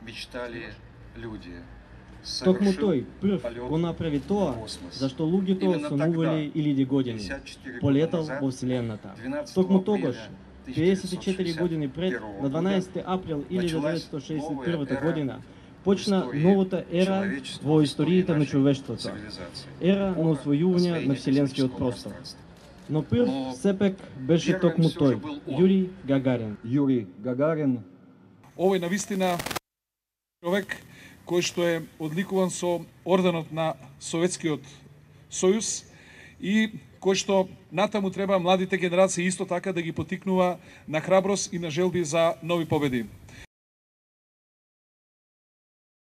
мечтали люди. Токму тој прв го направи тоа зашто луѓето сонувале илјади години. Полетал во Вселената. Токму тогаш, 54 години пред, на 12 април 1961 година, почна новата ера во историјата на човештвото. Ера на освојување на вселенскиот простор. Но прв сепак беше токму тој, Јури Гагарин. Јури Гагарин. Овој навистина човек кој што е одликуван со орденот на Советскиот Сојуз и кој што натаму треба младите генерации исто така да ги потикнува на храброст и на желби за нови победи.